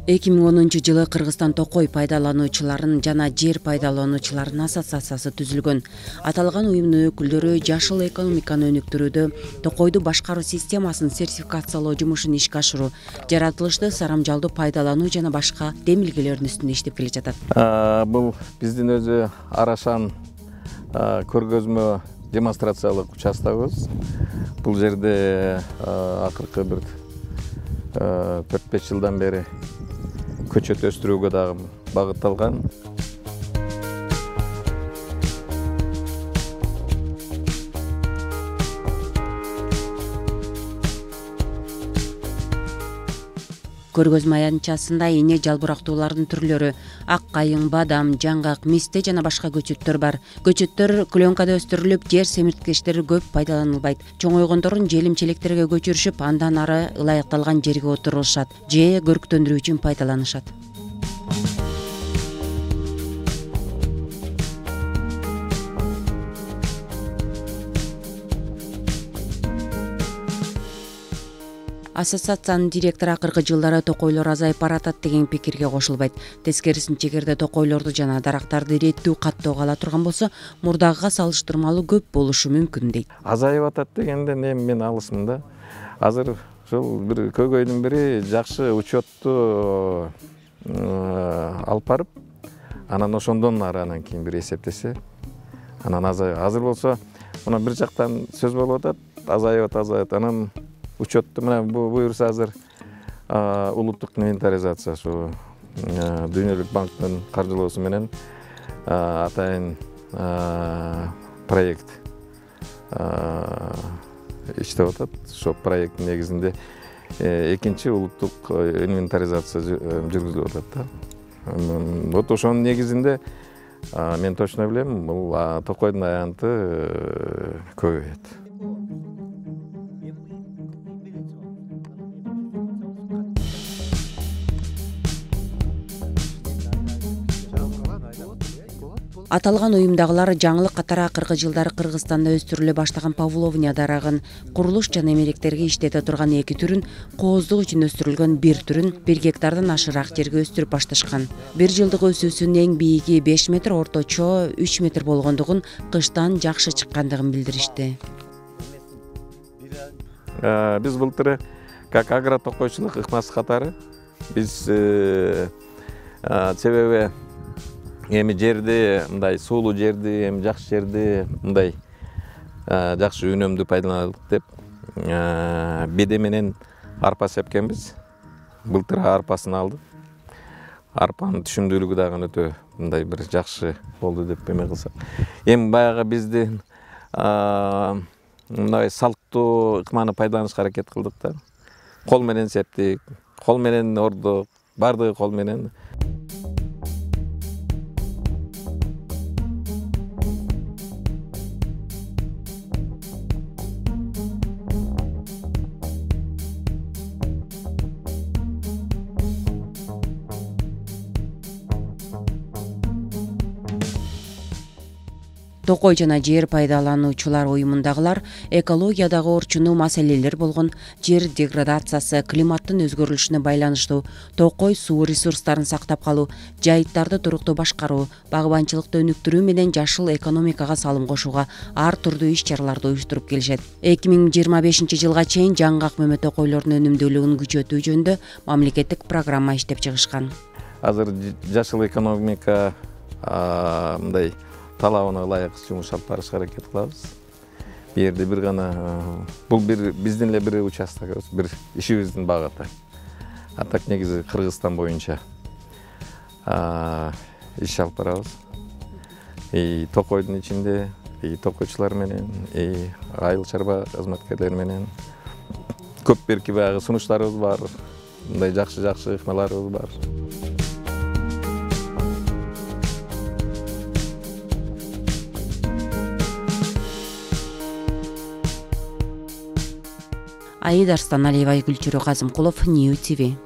2010-жылы Кыргызстан токой пайдалануучуларын жана жер пайдалануучуларын ассоциациясы түзүлгөн. Аталган уюмдун өкүлдөрү жашыл экономиканы өнүктүрүүдө токойду башкаруу системасын сертификациялоо жумушун ишке ашыруу, жаратылышты сарамжалдуу пайдалануу жана башка демилгелердин үстүндө иштеп келе жатат. Бул биздин өзү Арашан көргөзмө демонстрациялык участогубуз. Бул жерде акыркы бир 4-5 жылдан бери көчөт өстүрүүгө дагы багытталган. Көргөзмө аянтчасында эне жалбырактуулардын түрлөрү, ак кайың, бадам, жаңгак, мисте жана башка көчөттөр бар. Көчөттөр клёнкада өстүрүлүп, жер семирткичтери көп пайдаланылбайт. Чоңойгондорун желим-челектерге көчүрүшүп, андан ары ылайыкталган жерге отурулушат же көрктөндүрүү үчүн пайдаланышат. Ассоциациянын директору акыркы жылдары токойлор азайып баратат деген пикирге кошулбайт. Тескерисинче, эгерде токойлорду жана дарактарды иреттүү каттоого ала турган болсо, мурдагыга салыштырмалуу көп болушу мүмкүн дейт. Азайып атат дегенден эми мен алысмын да. Азыр ушул бир көйгөйдүн бири жакшы учетту алып барып, анан ошондон ары анан кийин бир эсептесе, анан азайып. Азыр болсо, мына бир жактан сөз болуп атат, азайып, анан учетту мына буюрса азыр улуттук инвентаризация ушу Дүйнөлүк банктын каржылоосу менен атайын проект иштеп атат. Ошол проекттин негизинде экинчи улуттук инвентаризация жүргүзүлүп атат да. Вот ошонун негизинде мен точно билем, бул токойдун аянты көбөйөт. Аталган уюмдагылар жаңылык катары акыркы жылдары Кыргызстанда өстүрүлө баштаган павловния дарагын, курулуш жана эмеректерге иштете турган 2 түрүн, кооздук үчүн өстүрүлгөн 1 түрүн 1 гектардан ашыраак жерге өстүрүп башташкан. Бир жылдык өсүүсүнүн эң бийиги 5 метр, орточо 3 метр болгондугун, кыштан жакшы чыккандыгын билдиришти. Биз былтыр как агротокойчулук ыкмасы катары биз себеби эми жерди мындай суулуу жерди, эми жакшы жерди мындай жакшы үнөмдүү пайдаланайлык деп беде менен арпа сепкенбиз. Былтыр арпасын алдык. Арпанын түшүмдүүлүгү дагы өтө мындай бир жакшы болду деп эме кылсак. Эми баягы биздин мындай салттуу ыкманы пайдаланышка аракет кылдык да. Кол менен септик, кол менен ордук, бардыгы кол менен. Токой жана жер пайдалануучулар уюмундагылар экологиядагы орчундуу маселелер болгон жер деградациясы, климаттын өзгөрүлүшүнө байланыштуу токой суу ресурстарын сактап калуу, жайыттарды туруктуу башкаруу, багбанчылыкты өнүктүрүү менен жашыл экономикага салым кошууга ар түрдүү иш-чараларды уюштуруп келишет. 2025-жылга чейин жаңгак мөмө токойлордун өнүмдүүлүгүн күчөтүү жөнүндө мамлекеттик программа иштеп чыгышкан. Азыр жашыл экономика мындай талабына ылайык жумуш алып барышка аракет кылабыз. Бу жерде бир гана бул биздин эле бир участогубуз, бир ишибиздин багыты. А так негизи Кыргызстан боюнча иш алып барабыз. Токойдун ичинде токойчулар менен, айыл чарба кызматкерлери менен көп берки баягы сунуштарыбыз бар. Мындай жакшы ыкмаларыбыз бар. Аида Арстаналиева, Гүлчүрө Казымкулов, Нью ТВ.